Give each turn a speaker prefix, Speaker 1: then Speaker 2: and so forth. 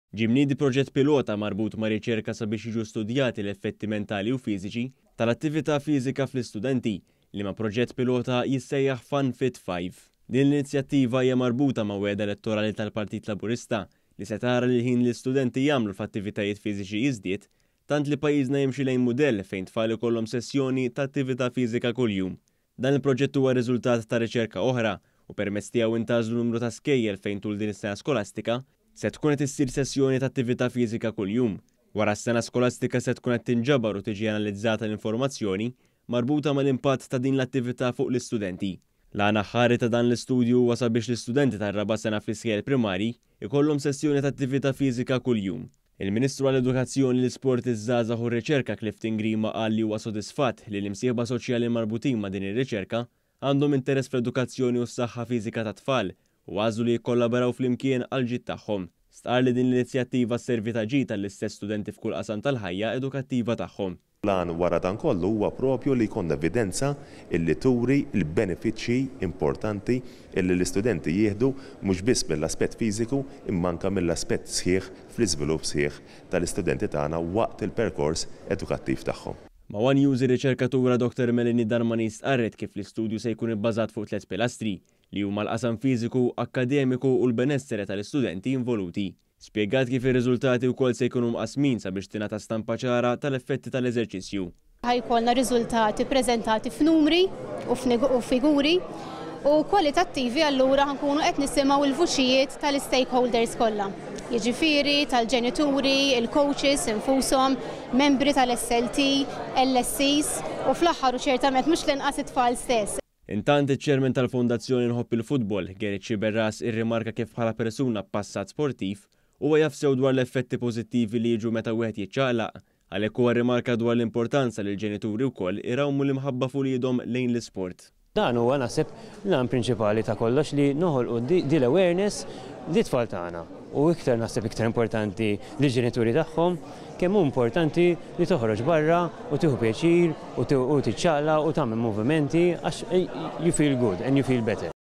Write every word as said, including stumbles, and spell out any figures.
Speaker 1: Ġie mniedi proġett pilota marbut ma' riċerka sabiex jiġu studjati l-effetti mentali u fiżiċi tal-attività fiżika fl-istudenti, liema proġett pilota jissejjaħ Fun Fit five. Din l-inizjattiva hija marbuta ma' wegħda elettorali tal-Partit Laburista li se tara li l-ħin li l-istudenti jagħmlu f'attivitajiet fiżiċi jiżdied, tant li pajjiżna jimxi lejn mudell fejn tfal ikollhom sessjoni ta' attività fiżika kuljum. Dan il-proġett huwa riżultat ta' riċerka oħra u permezz tiegħu intgħażlu numru ta' skejjel fejn tul din is-sena skolastika se tkun qed issir sessjoni ta' attività fiżika kuljum. Wara s-sena skolastika se tkun qed tinġabar u tiġi analizzata l-informazzjoni marbuta mal-impatt ta' din l-attività fuq l-istudenti. L-għan aħħari ta' dan l-istudju huwa sabiex l-istudenti tar-raba' sena fl-iskejjel primarji ikollhom sessjoni ta' attività fiżika kuljum. Il-Ministru għall-Edukazzjoni, l-Isport, iż-Żgħażagħ u r-Riċerka Clifton Grima qal li huwa sodisfatt li l-imsieħba soċjali marbutin ma' din ir-riċerka għandhom interess fl-edukazzjoni u s-saħħa fiżika tat-tfal u għażlu li jikkollaboraw flimkien għal ġid tagħhom. Stqarr li din l-inizjattiva sservi ta' ġid għall-istess studenti f'kull qasam tal-ħajja edukattiva tagħhom.
Speaker 2: L-għan wara dan kollu huwa propju li jkollna evidenza illi turi l-benefiċċji importanti illi l-istudenti jieħdu mhux biss mill-aspett fiżiku imma anke mill-aspett sħiħ fl-iżvilupp sħiħ tal-istudenti tagħna waqt il-perkors edukattiv tagħhom.
Speaker 1: Ma' One News ir-riċerkatura Doktor Melanie Darmani stqarret kif l-istudju se jkun ibbażat fuq tliet pilastri li huma l-qasam fiżiku, akkademiku u l-benessere tal-istudenti involuti. Spjegat kif ir-riżultati wkoll se jkunu mqasmin sabiex tingħata stampa ċara tal-effetti tal-eżerċizzju.
Speaker 3: Ħa jkollna riżultati preżentati f'numri u f'nigu-, u figuri u kwalitattivi, allura ħa nkunu qed nisimgħu l-vuċijiet tal-stakeholders kollha. Jiġifieri tal-ġenituri, il-coaches infushom, membri tal-S L T, L S Cs u fl-aħħar u ċertament mhux l-inqas it-tfal stess.
Speaker 1: Intant iċ-chairman tal-Fondazzjoni Nħobb il-Futbol, Gerrit Sciberras, irrimarka kif bħala persuna b'passat sportiv huwa jaf sew dwar l-effetti pożittivi li jiġu meta wieħed jiċċaqlaq. Għalhekk huwa rrimarka dwar l-importanza li l-ġenituri wkoll irawmu l-imħabba f'uliedhom lejn l-isport.
Speaker 4: Dan huwa naħseb l-għan prinċipali ta' kollox, li noħolqu di, di l-awareness li tfal tagħna u iktar naħseb iktar importanti li ġenituri tagħhom kemm hu importanti li toħroġ barra u tieħu pjaċir u tiċċaqlaq u tagħmel movimenti għax you feel good and you feel better.